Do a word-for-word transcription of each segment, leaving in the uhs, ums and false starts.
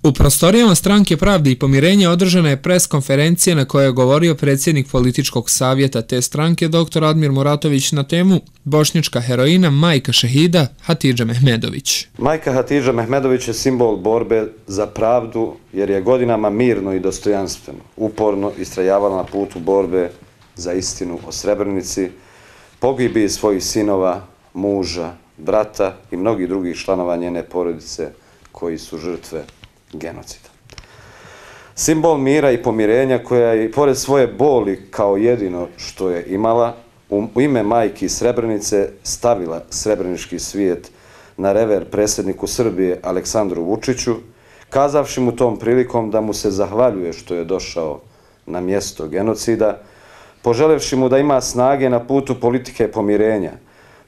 U prostorijama Stranke pravde i pomirenja održana je pres konferencija na kojoj je govorio predsjednik političkog savjeta te stranke doktor Admir Muratović na temu bošnjačka heroina majka šehida Hatidža Mehmedović. Majka Hatidža Mehmedović je simbol borbe za pravdu jer je godinama mirno i dostojanstveno, uporno istrajavala na putu borbe za istinu o Srebrenici, pogibiji svojih sinova, muža, brata i mnogih drugih članova njene porodice koji su žrtve genocida. Simbol mira i pomirenja koja je i pored svoje boli kao jedino što je imala u ime majki Srebrenice stavila srebrenički svijet na rever predsjedniku Srbije Aleksandru Vučiću, kazavši mu tom prilikom da mu se zahvaljuje što je došao na mjesto genocida, poželevši mu da ima snage na putu politike pomirenja,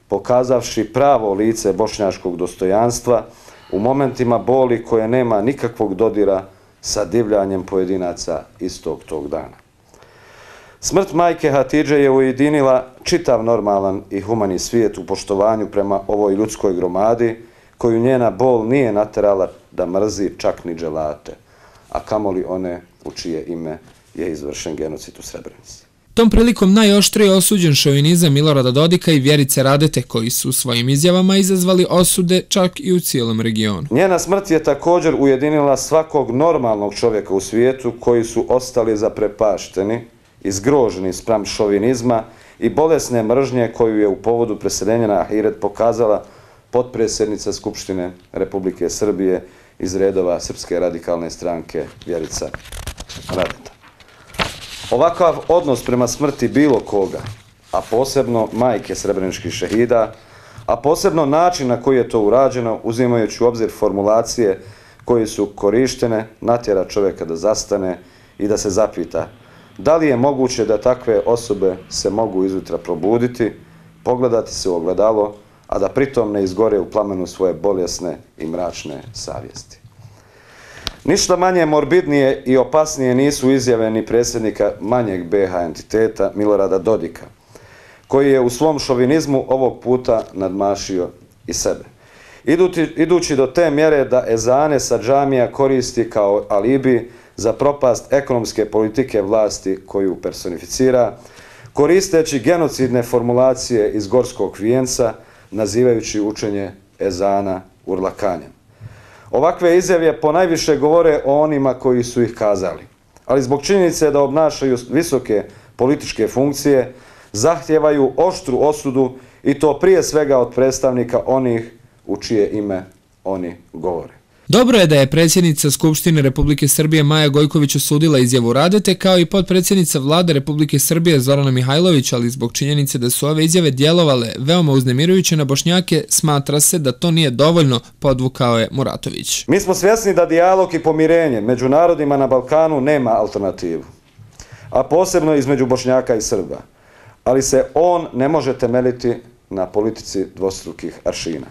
pokazavši pravo lice bošnjačkog dostojanstva u momentima boli koje nema nikakvog dodira sa divljanjem pojedinaca istog tog dana. Smrt majke Hatidže je ujedinila čitav normalan i humani svijet u poštovanju prema ovoj ljudskoj gromadi koju njena bol nije naterala da mrzi čak ni dželate, a kamoli one u čije ime je izvršen genocid u Srebrenici. Tom prilikom najoštrije osuđen šovinizam Milorada Dodika i Vjerice Radete, koji su svojim izjavama izazvali osude čak i u cijelom regionu. Njena smrt je također ujedinila svakog normalnog čovjeka u svijetu koji su ostali zaprepašteni i zgroženi spram šovinizma i bolesne mržnje koju je u povodu preseljenja na Ahiret pokazala potpredsjednica Skupštine Republike Srbije iz redova Srpske radikalne stranke Vjerica Radeta. Ovakav odnos prema smrti bilo koga, a posebno majke srebreničkih šehida, a posebno način na koji je to urađeno, uzimajući u obzir formulacije koje su korištene, natjera čovjeka da zastane i da se zapita da li je moguće da takve osobe se mogu izjutra probuditi, pogledati se u ogledalo, a da pritom ne izgore u plamenu svoje bolesne i mračne savjesti. Ništa manje morbidnije i opasnije nisu izjave ni predsjednika manjeg be ha entiteta Milorada Dodika, koji je u svom šovinizmu ovog puta nadmašio i sebe. Idući do te mjere da ezane sa džamija koristi kao alibi za propast ekonomske politike vlasti koju personificira, koristeći genocidne formulacije iz Gorskog vijenca, nazivajući učenje ezana urlakanjem. Ovakve izjave ponajviše govore o onima koji su ih kazali, ali zbog činjenice da obnašaju visoke političke funkcije, zahtijevaju oštru osudu i to prije svega od predstavnika onih u čije ime oni govore. Dobro je da je predsjednica Skupštine Republike Srbije Maja Gojković osudila izjavu Radete, kao i potpredsjednica Vlade Republike Srbije Zorana Mihajlović, ali zbog činjenice da su ove izjave djelovale veoma uznemirujuće na Bošnjake, smatra se da to nije dovoljno, podvukao je Muratović. Mi smo svjesni da dijalog i pomirenje među narodima na Balkanu nema alternativu, a posebno između Bošnjaka i Srba, ali se on ne može temeljiti na politici dvostrukih aršina.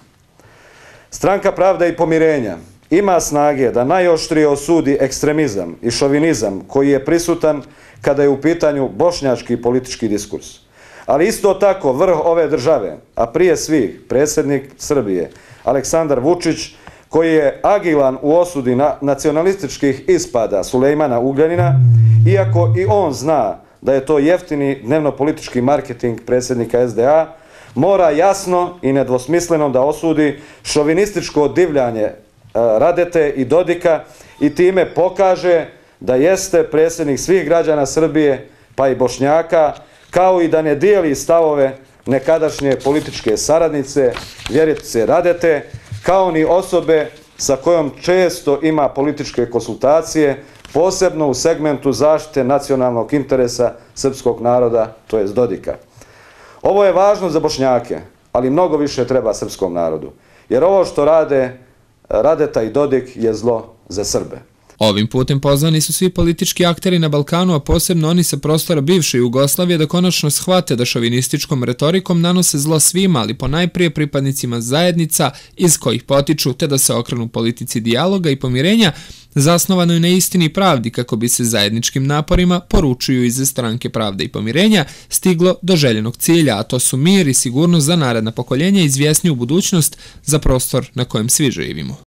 Stranka pravde i pomirenja ima snage da najoštrije osudi ekstremizam i šovinizam koji je prisutan kada je u pitanju bošnjački politički diskurs. Ali isto tako vrh ove države, a prije svih predsjednik Srbije Aleksandar Vučić, koji je agilan u osudi nacionalističkih ispada Sulejmana Ugljanina, iako i on zna da je to jeftini dnevno-politički marketing predsjednika es de a, mora jasno i nedvosmisleno da osudi šovinističko divljanje Radete i Dodika i time pokaže da jeste predsjednik svih građana Srbije, pa i Bošnjaka, kao i da ne dijeli stavove nekadašnje političke saradnice Vjerice Radete, kao ni osobe sa kojom često ima političke konsultacije, posebno u segmentu zaštite nacionalnog interesa srpskog naroda, to jest Dodika. Ovo je važno za Bošnjake, ali mnogo više treba srpskom narodu, jer ovo što rade Radeta i Dodik je zlo za Srbe. Ovim putem pozvani su svi politički akteri na Balkanu, a posebno oni sa prostora bivše Jugoslavije, da konačno shvate da šovinističkom retorikom nanose zlo svima, ali ponajprije pripadnicima zajednica iz kojih potiču, te da se okrenu politici dijaloga i pomirenja, zasnovanoj na istini i pravdi, kako bi se zajedničkim naporima, poručuju iz Stranke pravde i pomirenja, stiglo do željenog cilja, a to su mir i sigurnost za naredna pokoljenja i izvjesniju budućnost za prostor na kojem svi živimo.